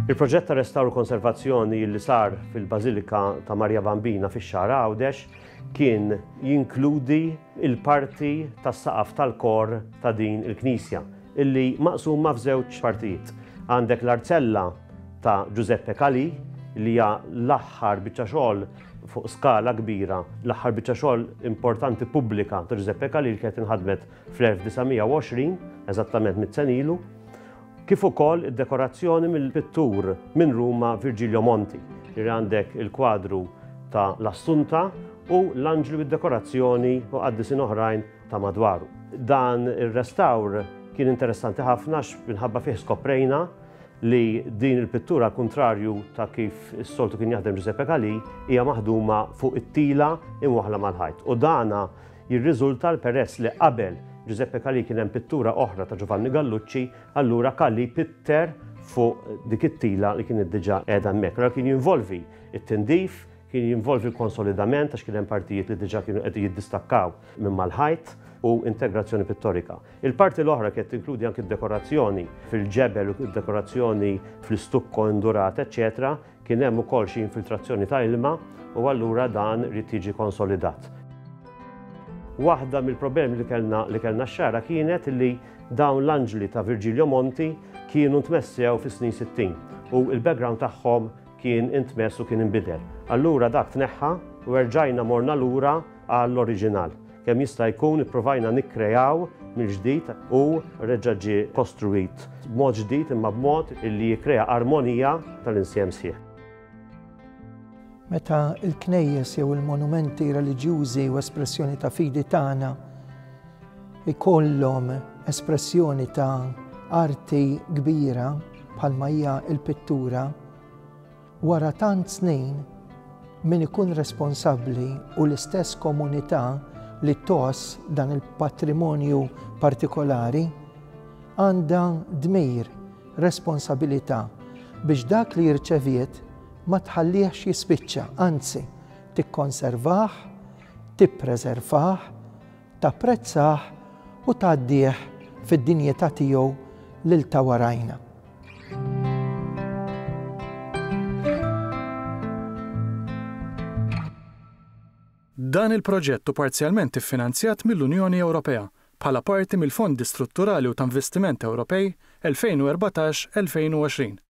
Il-proġett ta' restawr u konservazzjoni li sar fil-Bażilika ta' Marija Bambina fix-Xagħra Għawdex kien jinkludi l-parti tas-saqaf tal-kor ta' din il-knisja illi maqsuma f'żewġ partijiet. Għandek l-arzella ta' Giuseppe Calì li hija l-aħħar biċċa xogħol fuq skala kbira, l-aħħar biċċa xogħol importanti pubblika ta' Giuseppe Calì li kienet inħadmet fl-1920, eżattament mitt sena ilu, kif ukoll id-dekorazzjoni mill-pittur minn Ruma Virgilio Monti, li għandek il-kwadru ta' l-Assunta u l-anġli bid-dekorazzjoni u qaddisin oħrajn ta' madwaru. Dan ir-restawr kien interessanti ħafna għax minħabba fih skoprejna li din il-pittura għall-kuntrarju ta' kif is-soltu kien jaħdem Giuseppe Calì hija maħduma fuq it-tila imwaħħla mal-ħajt u dana Jirriżulta l peress li qabel Giuseppe Calì kien hemm pittura oħra ta' Giovanni Gallucci, allura Calì pitter fuq dik it-tila li kienet diġà qiegħda hemmhekk. Allura kien jinvolvi t-tindif, kien jinvolvi l-konsolidament għax kien hemm partijiet li diġà kienu qed jiddistakkaw minn mal-ħajt u integrazzjoni pittorika. Il-parti l-oħra kienet tinkludi anki d-dekorazzjoni fil-ġebel u d-dekorazzjoni fl-istukko indurat, eċċetera Kien hemm ukoll xi infiltrazzjoni ta' ilma u allura dan ried jiġi konsolidat. Waħda mill-problemi li kellna li kellna x-Xagħra kienet li dawn l-anġli ta' Virgilio Monti kienu ntmessew fis-snin 60 u l-background tagħhom kien intmess u kien inbidel. Allura dak tneħħa u erġajna morna lura għall-oriġinal. Kemm jista' jkun ippruvajna nikkreaw mill-ġdid u reġa' ġie kostruwit b'mod ġdid imma b'mod illi jikkrea armonija tal-insjem sħiħ. Meta l-knejjes jew il-monumenti reliġjużi u espressjoni ta' fidi tagħna ikollhom espressjoni ta' arti kbira bħalma hija l-pittura, Wara tant snin, min ikun responsabbli u l-istess komunità li tgħożż dan il-patrimonju partikolari għandha dmir, responsabilità biex dak li rċeviet ma tħallihx jispiċċa, anzi tikkonservah, tippreservah, tapprezzah u tgħaddih fid-dinjità tiegħu lil ta' warajna. Dan il-proġett hu parzjalment iffinanzjat mill-Unjoni Ewropea bħala parti mill-Fondi Strutturali u ta' Investiment Ewropej 2014-2020.